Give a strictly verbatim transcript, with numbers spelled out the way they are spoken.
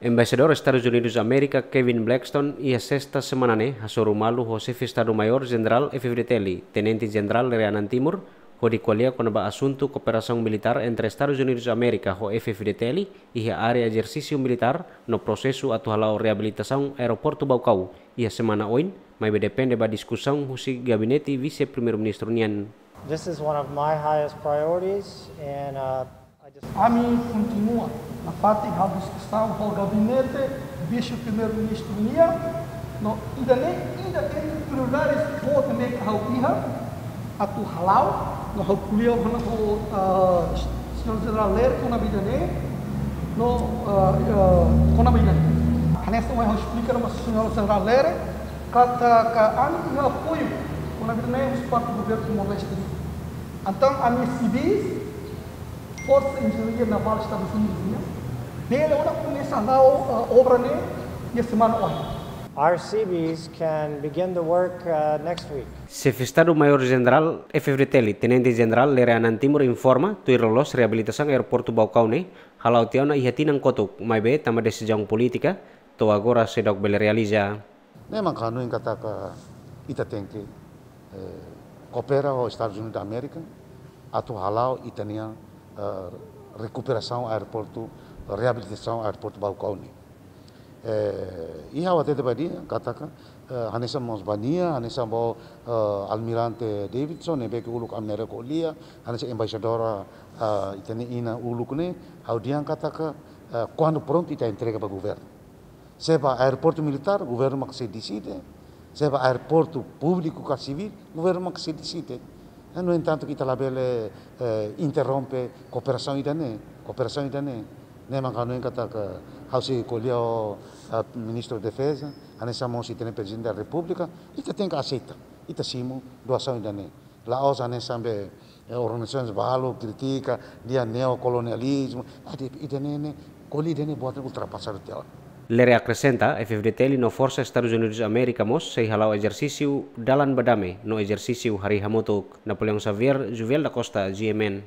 Embaixadór Estadus Unidus Amérika, Kevin Blackstone, iha sesta semana ne'e hasoru malu ho Xefe Estadu Maiór Jenerál F-FDTL, Tenente Jenerál Lere Anan Timur, hodi ko'alia kona-ba asuntu kooperasaun militár entre Estadus Unidus Amérika ho F-FDTL iha área ezersísiu militár no prosesu atu hala'o reabilitasaun Aeroportu Baucau iha semana oin, maibé depende ba diskusaun husi gabinete Vise-Primeiru-Ministru nian. This is one of my highest priorities, and, uh, I just Ami kontinua nafatin halo diskusaun ho gabinete Vise-Primeiru-Ministru nian, no ida-ne'e ida entre prioridades boot ne'ebé ha'u iha atu hala'o, no ha'u ko'alia ho, ah, Señór Jenerál Lere kona-ba ida-ne'e, no, ah, ah, kona-ba ida-ne'e. Hanesan ohin ha'u esplika ba Señór Jenerál Lere, katak ami iha apoiu kona-ba ida-ne'e husi parte governu Timor-Leste. Entaun, ami sivis, Forsa Enjeñaria Navál Estadus Unidus nian, bele ona komesa hala'o, ah, obra ne'e iha semana oin. Our Seabees can begin the work, uh, next week. Xefe Estadu Maiór Jenerál F-FDTL, Tenente Jenerál Lere Anan Timur informa, tuir loloos reabilitasaun Aeroportu Baucau ne'e hala'o tiha ona iha tinan kotuk, maibé tanba desizaun polítika, to'o agora seidauk bele realiza. Ne'e mak hanoin katak ita tenke, eh, koopera ho Estadus Unidus Amérika atu hala'o ita-nia, eh, rekuperasaun aeroportu, reabilitasaun Aeroportu Baucau ne'e. Eh, i ha'u hatete ba nia katak, eh, hanesan mós ba nia, hanesan ba, eh, Almirante Davidson, ne'ebé ke uluk ami na'in-rua ko'alia, hanesan embaixadór, eh, ita-nia inan uluk ne'e, ha'u dehan katak, eh, kuandu prontu ita entrega ba governu. Se ba aeroportu militár, governu mak sei deside. Se ba aeroportu públiku ka sivíl, governu mak sei deside. Eh, no entantu, ita labele, eh, interrompe kooperasaun ida-ne'e, kooperasaun ida-ne'e. Ne'e mak hanoin katak ha'u sei ko'alia ho, eh, Ministru Defeza, hanesan mós ita-nia Prezidente da Repúblika, ita tenke aseita, ita simu doasaun ida-ne'e. La'ós hanesan be, eh, organizasaun balu kritika, dehan neokolonializmu, ah, ida-ne'e ne'e, ko'alia ida-ne'e buat ultrapasadu tiha ona. Lere akresenta, F-FDTL no Forsa Estadus Unidus Amérika mós sei hala'o ezersísiu dalan ba dame no ezersísiu harii hamutuk. Napoleão Xavier, Juviel da Costa, G M N.